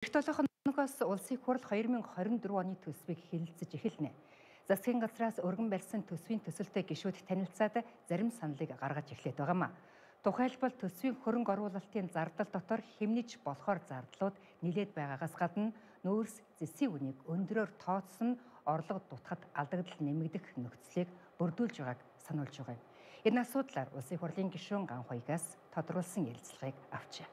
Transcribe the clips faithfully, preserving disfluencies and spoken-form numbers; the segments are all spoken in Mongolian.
Эх толгоноос улсын хурал хоёр мың хорин дөрөв оны төсвийг хэлэлцэж эхэлнэ. Засгийн газраас өргөн барьсан төсвийн төсөлтэй гишүүд танилцаад зарим саналыг гаргаж эхлээд байгаамаа. Тухайлбал төсвийн хөрөнгө оруулалтын зардал дотор хэмнэж болохоор зардлууд нэлээд байгаагаас гадна нөөц зэсийн үнийг өндрөөр тооцсон орлого дутахад алдагдал нэмэгдэх нөхцөлийг бүрдүүлж байгааг сануулж байгаа юм. Энэ асуудлаар улсын хурлын гишүүн Ганхуйгаас тодруулсан ярилцлагыг авчээ.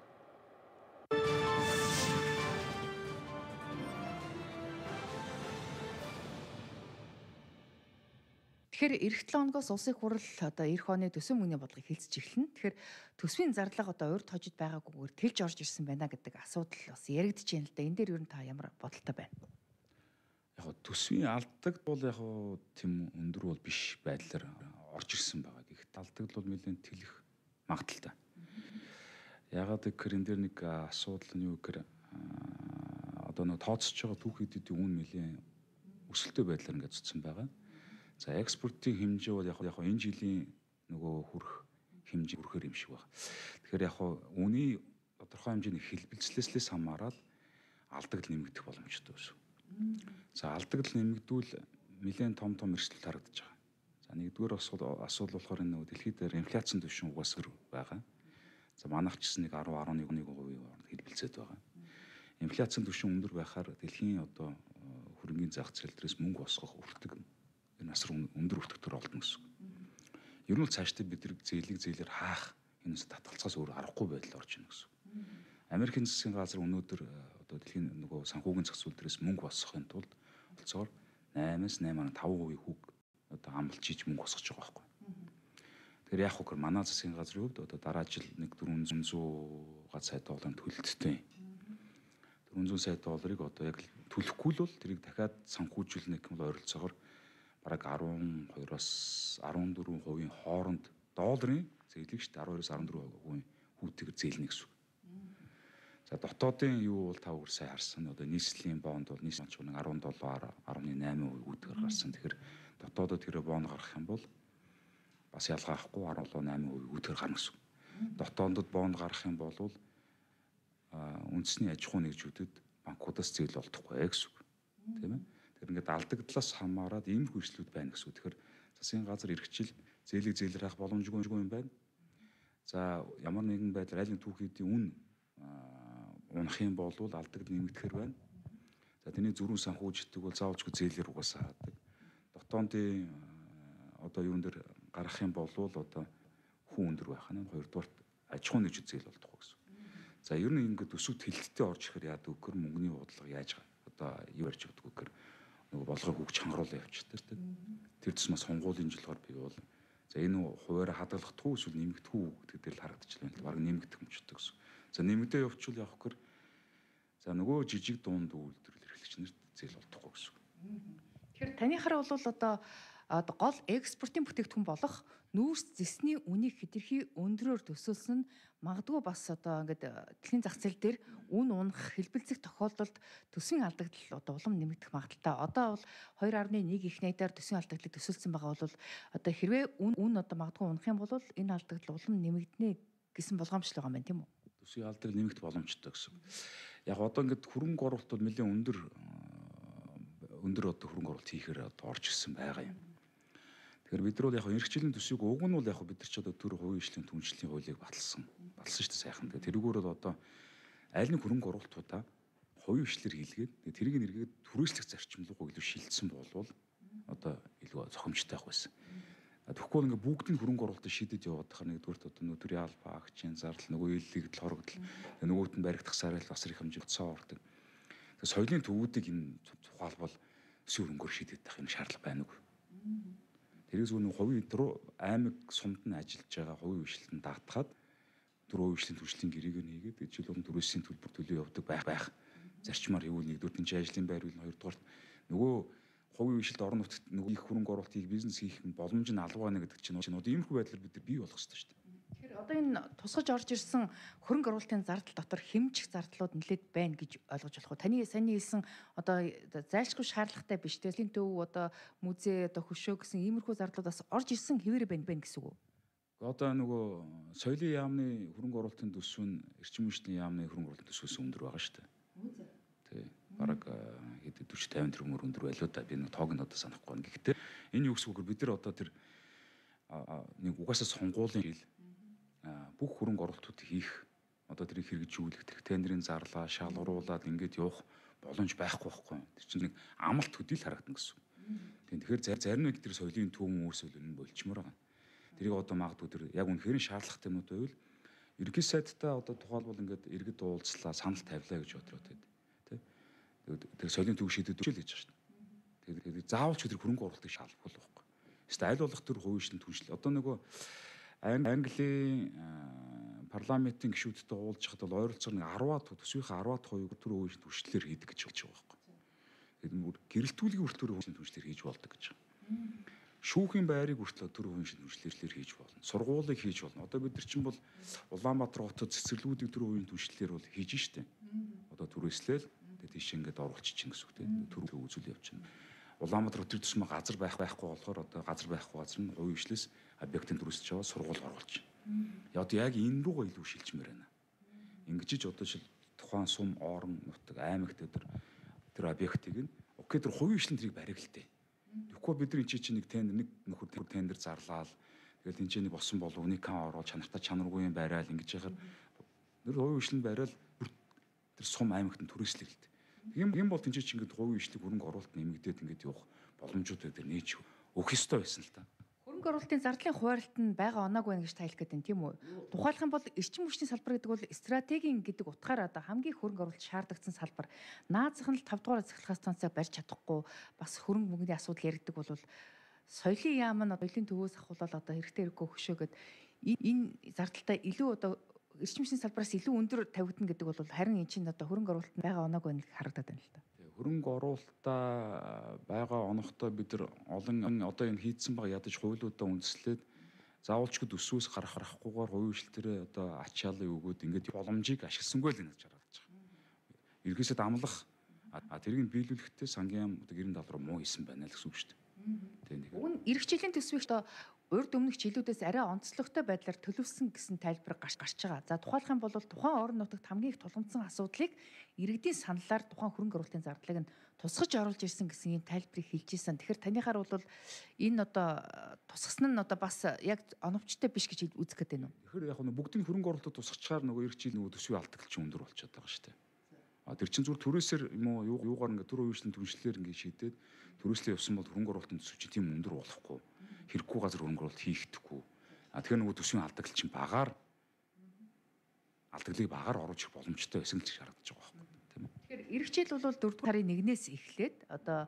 Тэгэхээр эх долоо хоногоос улсын хурал одоо эх оны төсвийн мөнгөний бодлогыг хэлцэж эхэлнэ. Тэгэхээр төсвийн зардлага одоо урьд хожид байгаагүйгээр тэлж орж ирсэн байна гэдэг асуудал бас яригдж байна л да. Энэ дээр ер нь та ямар бодолтой байна? Яг төсвийн алдагд бол яг тийм өндөр бол биш байдлаар орж ирсэн байгаа. Гэхдээ алдагд бол нэлээд тэлэх магадaltaй. Ягаад гэхээр энэ дээр нэг асуудал нь юу гэхээр одоо нэг тооцож байгаа түүхийдийн үн нэлээд өсөлттэй байдлаар ингээд цуцсан байгаа. За экспортын хэмжээ бол яг яг энэ жилийн нөгөө хүрэх хэмжээ хүрэхээр юм шиг байна. Тэгэхээр яг үний тодорхой хэмжээний хэлбэлцлээслээс хамаарал алдагдал нэмэгдэх боломжтой байсан. За алдагдал нэмэгдвэл нэлээд том том эрсдэл харагдаж байгаа. За нэгдүгээр асуудал асуудал болохоор энэ нөгөө дэлхийд дээр инфляцийн түвшин угаас өр байгаа. За манайх ч гэсэн нэг десять дасам нэг перцент хэлбэлцээд байгаа. Инфляцийн түвшин өндөр байхаар дэлхийн одоо хөрөнгөний зах зээл дээрээс мөнгө босгох өртөг энэ асар өндөр өртөгтөр олдно гэсэн. Ер нь бол цаашдаа бид нар зээлийг зээлээр хаах энэс татгалцаас өөр аргагүй байдал орж ийн гэсэн. Америкийн засгийн газар өнөөдөр одоо дэлхийн нөгөө санхүүгийн зах зээл дээрээс мөнгө босгохын тулд олцоор наймаас наймаа дасам пэрсент хүүг одоо амлж хийж мөнгө босгож байгаа байхгүй. Тэгэхээр яг хөө манай засгийн газрын хувьд одоо дараа жил нэг дөрвөн зуун сая долларын төлөлттэй. дөрвөн зуун сая долларыг одоо яг төлөхгүй л бол тэрийг дахиад санхүүжүүлнэ гэх мэт ойролцоогоор бараг арван хоёроос арван дөрвөн хувийн хооронд долларын зээлийг шүү дээ арван хоёроос арван дөрвөн хувийн хүүтэйгээр зээлнэ гэсэн. За дотоодын юу бол та өөр сайн харсан. Одоо нийслэлийн бонд бол нийслэл ч нэг арван доллар арван найман хувийн хүүтэйгээр гарсан. Тэгэхээр дотоодод тэр бонд гаргах юм бол бас ялгаахгүй арван найман хувийн хүүтэйгээр гарна гэсэн. Дотоодод бонд гаргах юм бол үндэсний аж ахуй нэгжүүдэд банкудаас зээл олдохгүй гэсэн. Тийм ээ. Тэр ингээд алдагдлаас хамаарад ийм хөрслүүд байна гэсэн. Тэгэхээр засгийн газар эрхчил зээлийг зээлэр авах боломжгүй юм байна. За ямар нэгэн байдлаар аль нэг түүхийдийн үн унах юм бол алдагд нэмэгдэхэр байна. За тэрний зөрүүн санхүүждэг бол заавалжгүй зээлэр угаасаа хаадаг. Дотоодын одоо юун дээр гарах юм бол одоо хүн өндөр байх нь хоёрдугаар аж ахуй нэгжид зээл олдохгүй гэсэн. За ер нь ингээд өсвөд хилэлттэй орж ирэхээр яадаг гэхээр мөнгөний бодлого яаж одоо юу ярьж өгдөг гэхээр нөгөө болгоог хөгж хангаруулаа явчихдаг тийм. Тэр тусмаас сонгуулийн жилгаар бий бол за энэ хуваараа хадгалахдаггүй эсвэл нэмэгдэхгүй гэдэг дээр л харагдчихлаа л баг нэмэгдэх юмчдаг гэсэн. За нэмэгдээ явуучвал явах гэхээр за нөгөө жижиг дунд үйлдвэрлэл эрхлэгч нарт зээл олдохгүй гэсэн. Тэгэхээр таны хараа бол одоо гол экспортын бүтээгдэхүүн болох нүүрс зэсний үнийг хэтэрхий өндрөөр төсөөлсөн нь магадгүй бас одоо ингээд дэлхийн зах зээл дээр үн унах хэлбэлцэх тохиолдолд төсвийн алдагдал одоо улам нэмэгдэх магадaltaй. Одоо бол хоёр гаруй нэг их найдаар төсвийн алдагдлыг төсөөлсөн байгаа бол одоо хэрвээ үн үн одоо магадгүй унах юм бол энэ алдагдал улам нэмэгдэнэ гэсэн болгоомжтой байгаа юм тийм үү? Төсвийн алдагдлыг нэмэгдэх боломжтой гэсэн. Яг одоо ингээд хөрөнгө оруулалт бол нэлээд өндөр өндөр одоо хөрөнгө оруулалт хийхээр одоо орж ирсэн байгаа юм. Тэгэхээр бид нар бол яг эрхчлэлийн төсвийг уг нь бол яг бид нар ч одоо төр хувийн хөгжлийн түншлэлийн хуулийг баталсан. Баталсан шүү дээ сайхан. Тэгээ тэрүүгээр бол одоо аль нэг хөрөнгө оруулалтуудаа хувийн хөгжлөөр хийлгээд тэрийг нэргээд түрээслэх зарчим руу илүү шилжсэн болвол одоо илүү зохимжтой байх байсан. Тэгэхгүй бол ингээ бүгд нь хөрөнгө оруулалтыг шийдэд яваад тахаар нэгдүгürt одоо нөтри алба, акчийн зардал, нөгөө иллэгдэл хорогдол, нөгөөт нь баригдах сарайлт бас их хэмжээнд цоо ордог. Тэгээ соёлын төвүүдийг энэ тухайлбал өсвөр хөрөнгөөр шийдэд тах юм шаардлага байна уу? Тэрээс өнөө хувийн руу аймаг сумд нь ажиллаж байгаа хувийн хөгжлөлтөнд даатгаад дөрөв хөгжлийн төршлийн гэрээг нэгээд ижил болон төрөөсийн төлбөр төлөө явдаг байх байх. Зарчмаар хийвэл нэгдүгээр нь ажлын байр үйл хоёрдугаар нөгөө хувийн хөгжлөлт орон нутгад нөгөө их хөрөнгө оруулалтыг бизнес хийх боломж нь алга байна гэдэг чинь одоо иймэрхүү байдлаар бид нар бий болох хэрэгтэй шүү дээ. Тэгэхээр одоо энэ тусгаж орж ирсэн хөрөнгө оруулалтын зардал дотор хэмжих зардлууд нэлээд байна гэж ойлгож болох уу? Таны саний хэлсэн одоо зайлшгүй шаардлагатай биш тэлийн төв одоо музей одоо хөшөө гэсэн иймэрхүү зардлуудаас орж ирсэн хэвээр байна байна гэсэн үг үү? Одоо нөгөө соёлын яамны хөрөнгө оруулалтын төсөв нь эрчим хүчний яамны хөрөнгө оруулалтын төсвөөс өндөр байгаа шүү дээ. хэд forty fifty тэрбум өндөр байлоо да. Би нэг тоог нь одоо санахгүй байна. Гэхдээ энэ юу гэсэн үг вэ? Бид нар одоо тэр нэг угаасаа сонгуулийн хил бүх хөрөнгө оруулалтууд хийх одоо тэрийг хэрэгжүүлэх, тэр тендерийн зарлаа, шалгаруулад ингээд явах боломж байхгүй байхгүй. Тэр чинь нэг амлалт хөдөл харагдана гэсэн. Тэгэхээр зарим нэг тэр соёлын төвөн үүсэл нь болчмоор байгаа. Тэрийг одоо магадгүй тэр яг үнэхээр шаардлагатай юм уу байвал ерөнхий сайдтай одоо тухайлбал ингээд иргэд уулзлаа, санал тавилаа гэж бодроо тий. Тэр соёлын төв шийдэд үчил гэж байна шүү дээ. Тэгэхээр заавал ч тэр хөрөнгө оруулалтыг шалгах байхгүй. Эсвэл аль болох тэр хувийн шин түншлэл. Одоо нөгөө Английн парламентын гишүүдтэй уулзахад бол ойролцоогоор нэг ten төсвийнхээ ten хувийг тэр хувийн шин түншлэлээр хийдэг гэж болж байгаа байхгүй. Тэгэхээр гэрэлтүүлгийн хүртэл хувийн шин түншлэлээр хийж болдог гэж байна. Шүүхийн байрыг хүртэл тэр хувийн шин түншлэлээр хийж болно. Сургуулийг хийж болно. Одоо бид нар чинь бол Улаанбаатар хотод цэцэрлэгүүдийг тэр хувийн түншлэлээр бол хийж штэ. Одоо түрээслээл тэгээд тийш ингээд оруулчих гэсэн үг тийм. Төр үзүүл явчихна. Улаанбаатар хотын төсмө газар байх байхгүй болохоор одоо газар байхгүй газар нь хувийн хвшлээс объектын төрөсөж аваад сургууль оруулж байна. Одоо яг энэ рүүгээ илүү шилжмээр байна. Ингэж ч одоо жишээл тухайн сум, орон, нутаг, аймагт тэр тэр объектыг нь окей тэр хувийн хвшлэн тэрийг барих л дээ. Тэгэхгүй бид нар энэ чинь нэг тендер нэг нөхөр тендер зарлаад тэгэл энэ чинь нэг босон болов уникан ороод чанартай чанаргүй юм байраал ингэж яхаар тэр хувийн хвшлэн барайл тэр сум аймагт нь түрээслэх л дээ. Тийм юм бол тэнцээ чи ингээд хувийн хвшлийг хөрөнгө оруулалт нэмэгдээд ингээд явах боломжууд дээр нээж өгөх ёстой байсан л та. Хөрөнгө оруулалтын зардлын хуваарлт нь байгаа оноогүй байна гэж та хэлэх гэдэг нь тийм үү? Тухайлах юм бол эрчим хүчний салбар гэдэг бол стратегийн гэдэг утгаараа одоо хамгийн хөрөнгө оруулалт шаардлагатай салбар. Наазах нь л five дугаар цахилгаан станцаа барьж чадахгүй бас хөрөнгө мөнгөний асуудал яригдаг бол соёлын яам нь одоо соёлын төвөөс ахуулаад одоо хэрэгтэй хэрэггүй хөшөөгээд энэ зардалтай илүү одоо эрчим хүчний салбараас илүү өндөр тавигдана гэдэг бол харин эн чинь одоо хөрөнгө оруулалт байгаа оноогүй нэг харагдаад байна л да. Хөрөнгө оруулалтаа байгаа оногтой бид нар олон одоо энэ хийдсэн байгаа ядаж хуулиудаа үндэслээд заавалчгүй төсвөөс гарах гарахгүйгээр хувийн хвшлтэрээ одоо ачаалал өгөөд ингээд боломжийг ашигласангүй л гэж харагдаж байгаа. Ерхийсэд амлах а тэрийг биелүүлэхдээ сангийн одоо гэрэн даал руу муу хийсэн байна л гэсэн үг шүү дээ. Тийм нэг. Уг нь эрх жилийн төсвийг одоо урд өмнөх жилүүдээс арай онцлогтой байдлаар төлөвлөсөн гэсэн тайлбар гарч гарч байгаа. За тухайлах юм бол тухайн орон нутагт хамгийн их тулгамдсан асуудлыг иргэдийн саналаар тухайн хөрөнгө оруулалтын зардлыг нь тусгаж оруулж ирсэн гэсэн ийм тайлбарыг хэлж ирсэн. Тэгэхээр танихаар бол энэ одоо тусгасан нь одоо бас яг оновчтой биш гэж үзэх гээд байна уу? Тэгэхээр яг нь бүгдийн хөрөнгө оруулалтад тусгачаар нөгөө эрх жил нөгөө төсвийн алдагч өндөр болчиход байгаа шүү дээ. А тэр чин зүгээр түрээсээр юм уу юугаар ингээд төр үеийн түншлэлээр ингээд шийдээд түрээслээ явсан бол хөрөнгө оруулалтын төсөв чинь тийм өндөр болохгүй. Хэрэггүй газар хөрөнгө оруулалт хийхдэггүй. А тэгэхээр нөгөө төсвийн алдагч чинь багаар алдагдлыг багаар оруулж ирэх боломжтой байсан л шаардж байгаа байхгүй тийм үү. Тэгэхээр эх жил бол дөрөвдүгээр сарын нэгнээс эхлээд одоо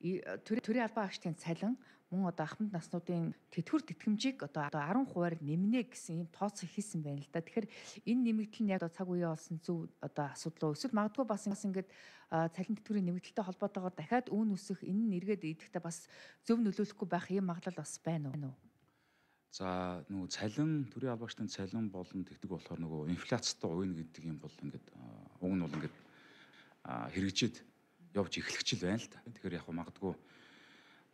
төрийн албан агчдын цалин мөн одоо ахмад наснуудын тэтгэвэр тэтгэмжийг одоо ten хувиар нэмнэ гэсэн юм тооцоо хийсэн байна л да. Тэгэхээр энэ нэмэгдэл нь яг цаг үеэ олсон зөв одоо асуудал уу? Эсвэл магадгүй бас ингээд цалин тэтгэврийн нэмэгдэлтэй холбоотойгоор дахиад үүн үсэх энэ нь эргээд идэхдээ бас зөв нөлөөлөхгүй байх юм магадлал бас байна уу? За нөгөө цалин төрийн албаагчдын цалин болон тэгдэг болохоор нөгөө инфляцтай уйна гэдэг юм бол ингээд уг нь бол ингээд хэрэгжээд явж эхлэх л байна л да. Тэгэхээр яг магадгүй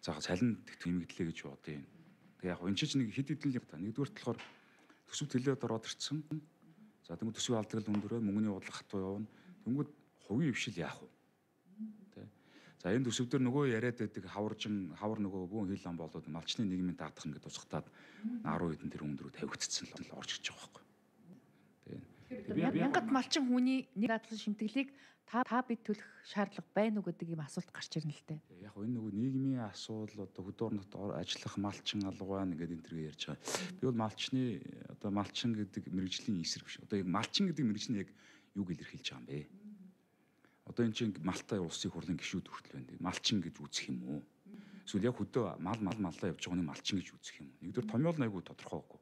за цалин тэтгэв нэмэгдлээ гэж бодъё. Тэг яг энэ чинь нэг хэд хэдэн л та. Нэгдүгээр болохоор төсөв төлөөд ороод ирсэн. За тэгвэл төсвийн алдагл өндөрөө мөнгөний бодлого хатуу явна. Тэнгүүд хувийн хвшил яах вэ? Тэ. За энэ төсөв дээр нөгөө яриад байдаг хаваржин хавар нөгөө бүүн хил ам болоод малчны нийгмийн даатгах ингээд тусгатаад ten хэдэн тэр өндрөө тавигдчихсан л орж ирж байгаа байхгүй. Тэгээд мянгат малчин хүний нэг дадлан шимтгэлийг та та бид төлөх шаардлага байна уу гэдэг юм асуулт гарч ирнэ л дээ. Яг энэ нөгөө нийгмийн асуудал одоо хөдөө орнот ажиллах малчин алга байна гэдэг энэ төрөй ярьж байгаа. Би бол малчны одоо малчин гэдэг мэрэгжлийн эсрэг биш. Одоо яг малчин гэдэг мэрэгжил нь яг юг илэрхийлж байгаа юм бэ? Одоо энэ чинь Малтай улсын хурлын гишүүд хүртэл байна. Малчин гэж үзэх юм уу? Эсвэл яг хөдөө мал мал маллаа явж байгаа нэг малчин гэж үзэх юм уу? Нэгдүгээр томьёол нь айгүй тодорхойгүй.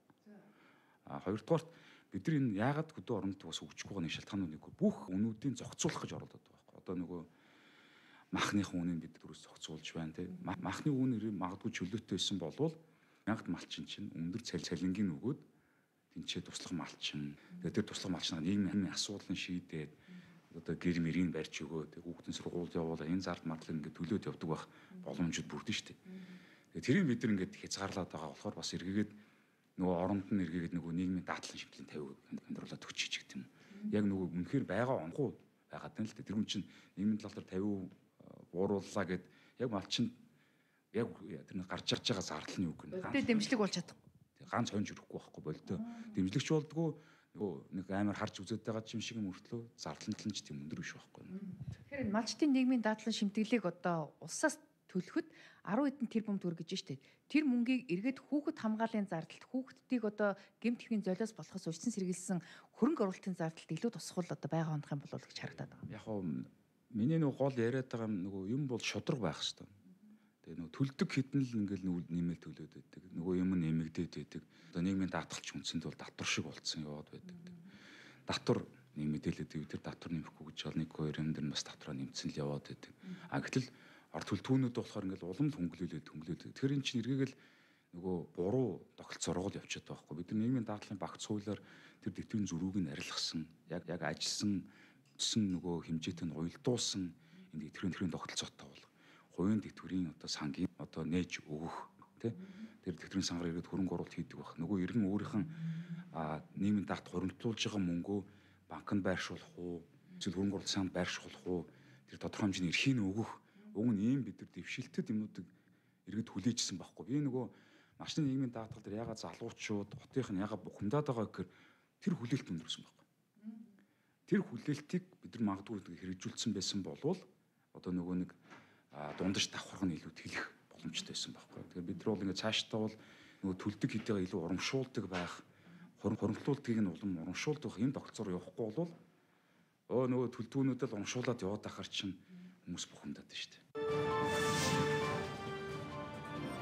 А хоёрдугаар бид нар энэ яагаад хөдөө оронд бас өгчихгүй байгаа нэг шалтгаанууд нэг бүх үнүүдийн зохицуулах гэж оролдоод байгаа байхгүй. Одоо нөгөө махныхын үнийг бид дөрөс зохицуулж байна тийм. Махны үн магадгүй чөлөөтэй байсан болвол мянгат малчин чинь өндөр цалин цалингийн өгөөд тэнцээ туслах малчин. Тэгээд тэр туслах малчнаа нийгмийн асуудлын шийдээд одоо гэр мэрийн барьж өгөө тэг хүүхдийн сургуульд явуулаа энэ зард мадлаг ингээд төлөөд явдаг байх боломжууд бүрдэн штэ. Тэгээд тэрийг бид нар ингээд хязгаарлаад байгаа болохоор бас эргээгээд нөгөө оронд нь эргээгээд нөгөө нийгмийн даадлан шимтлийн тавиг амьдруулаад өгч чиг гэдэг юм. Яг нөгөө үнэхээр байгаа онхуу байгаад байна л дээ. Тэр хүн чинь нийгмийн талаар тавиу буурууллаа гэд яг малчин яг тэр нэг гарч ирж байгаа зардал нь юу гэнэ. Болтой дэмжлэг болж чадахгүй. Ганц хонж өрөхгүй байхгүй болтой. Дэмжлэгч болдгоо нөгөө нэг амар харж үзээд байгаа юм шиг юм өртлөө зардал нь ч тийм өндөр биш байхгүй. Тэгэхээр малчтын нийгмийн дадлан шимтгэлийг одоо улсаас төлөхөд арван хэдэн тэрбум төгрөг гэж штэ. Тэр мөнгийг эргээд хүүхэд хамгааллын зардалт, хүүхдүүдийг одоо гэмт хэргийн золиос болохоос урьдчилан сэргийлсэн хөрөнгө оруулалтын зардалт илүү тусгал одоо байгаа хондох юм болов гэж харагдаад байгаа. Яг нь миний нөгөө гол яриад байгаа нөгөө юм бол шудраг байх хэвээр. Тэгээ нөгөө төлдөг хідэн л ингээл нэмэл төлөөд байдаг. Нөгөө юм нэмэгдээд байдаг. Одоо нийгмийн даатгалч үндсэнд бол татвар шиг болцсон яваад байдаг. Татвар нэмэгдээлээд ив тэр татвар нэмэхгүй гэж бол нэг хоёр юм дээр бас татвараа нэмсэн л яваад байдаг. А гэтэл ард төлтгүүнүүд болохоор ингээл улам л хөнгөлөлөд хөнгөлөлөд. Тэгэхээр эн чинь эргээгээл нөгөө буруу тогтолцоо сургуул явчихад байгаа байхгүй. Бид нар нийгмийн даатгалын багц хуулиар тэр дэвтэрийн зөрүүг нь арилгасан, яг яг ажилласан нөгөө хэмжээтэй нь уялдуулсан энэ дэвтэрийн төрийн тогтолцоотой бол хувийн дэвтэрийн одоо сангийн одоо нээж өгөх тий тэр дэвтэрийн сангаар ирээд хөрөнгө оруулалт хийдэг байх. Нөгөө иргэн өөрийнх нь нийгмийн даатгалд хуримтлуулж байгаа мөнгөө банкнд байршуулах уу, эсвэл хөрөнгө оруулалт санд байршуулах уу, тэр тодорхой хэмжээний эрхийг өгөх. Уг нь ийм бид нар дэвшилтэд юмнуудыг иргэд хүлээжсэн байхгүй. Би нөгөө малчны нийгмийн даатгал дээр ягаад залуучууд, хотынх нь ягаад бухимдаад байгаа гэхээр тэр хүлээлт өндөрсөн байхгүй. Тэр хүлээлтийг бид нар магадгүй хэрэгжүүлсэн байсан болвол одоо нөгөө нэг дундаж давхарх нь илүү тэлэх боломжтой байсан байхгүй. Тэгэхээр бид нар бол ингээд цаашдаа бол нөгөө төлдөг хэдийгээ илүү урамшуулдаг байх, хуримтлуултыг нь улам урамшуулдаг энэ тогтолцоор явахгүй бол өө нөгөө төлдгүүнүүдэд урамшуулад яваад ахаар чинь хүмүүс бухимдаад байна шүү дээ.